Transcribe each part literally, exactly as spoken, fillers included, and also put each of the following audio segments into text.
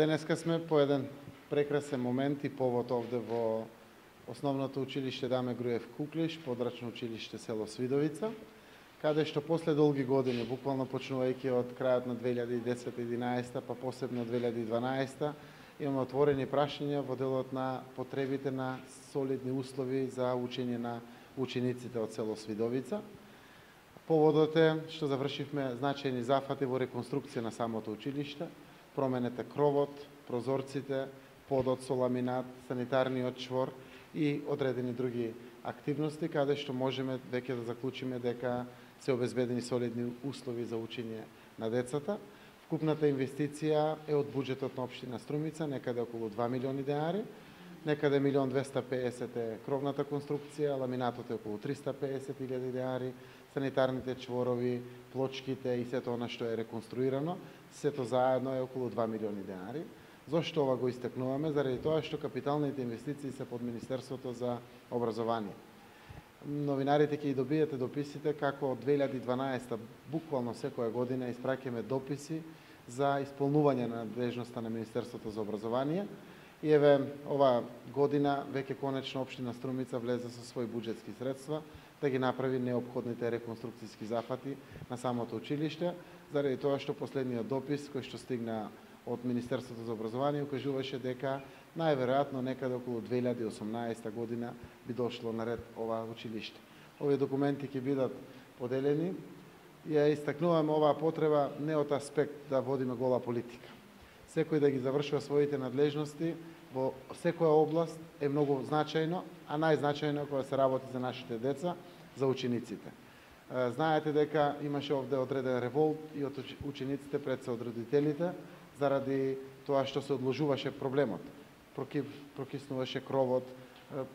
Денеска сме по еден прекрасен момент и повод овде во Основното училиште Даме Груев Куклиш, подрачно училиште село Свидовица, каде што после долги години, буквално почнувајќи од крајот на две илјади и десета и единаесета, па посебно две илјади и дванаесета, имаме отворени прашања во делот на потребите на солидни услови за учење на учениците од село Свидовица. Поводот е што завршивме значајни зафати во реконструкција на самото училиште, променете кровот, прозорците, подот со ламинат, санитарниот чвор и одредени други активности, каде што можеме веќе да заклучиме дека се обезбедени солидни услови за учење на децата. Вкупната инвестиција е од буџетот на општина Струмица, некаде околу два милиони денари, некаде милион двесте и педесет е кровната конструкција, ламинатот е околу триста и педесет илјади денари, санитарните чворови, плочките и сето она што е реконструирано, сето заедно е околу два милиони денари. Зошто ова го истакнуваме? Заради тоа што капиталните инвестиции се под Министерството за образование. Новинарите ќе ги добиете дописите како од две илјади и дванаесета буквално секоја година испраќаме дописи за исполнување на надлежноста на Министерството за образование. И еве ова година веќе конечно општина Струмица влезе со своји буџетски средства да ги направи неопходните реконструкцијски зафати на самото училиште, заради тоа што последниот допис кој што стигна од Министерството за образование укажуваше дека најверојатно некаде околу две илјади и осумнаесета година би дошло на ред ова училиште. Овие документи ќе бидат поделени. Ја истакнуваме оваа потреба не од аспект да водиме гола политика. Секој да ги завршува своите надлежности во секоја област е многу значајно, а најзначајно е кога се работи за нашите деца, за учениците. Знаете дека имаше овде одреден револт и од учениците пред се од родителите, заради тоа што се одложуваше проблемот. Прокиснуваше кровот,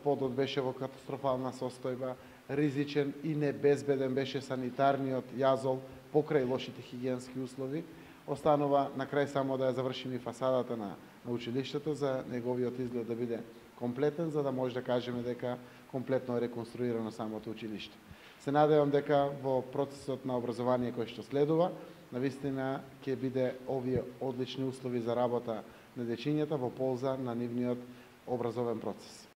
подот беше во катастрофална состојба, ризичен и небезбеден беше санитарниот јазол покрај лошите хигиенски услови. Останува на крај само да ја завршиме фасадата на, на училиштето за неговиот изглед да биде комплетен, за да може да кажеме дека комплетно е реконструирано самото училиште. Се надевам дека во процесот на образование кој што следува, навистина ќе биде овие одлични услови за работа на дечињата во полза на нивниот образовен процес.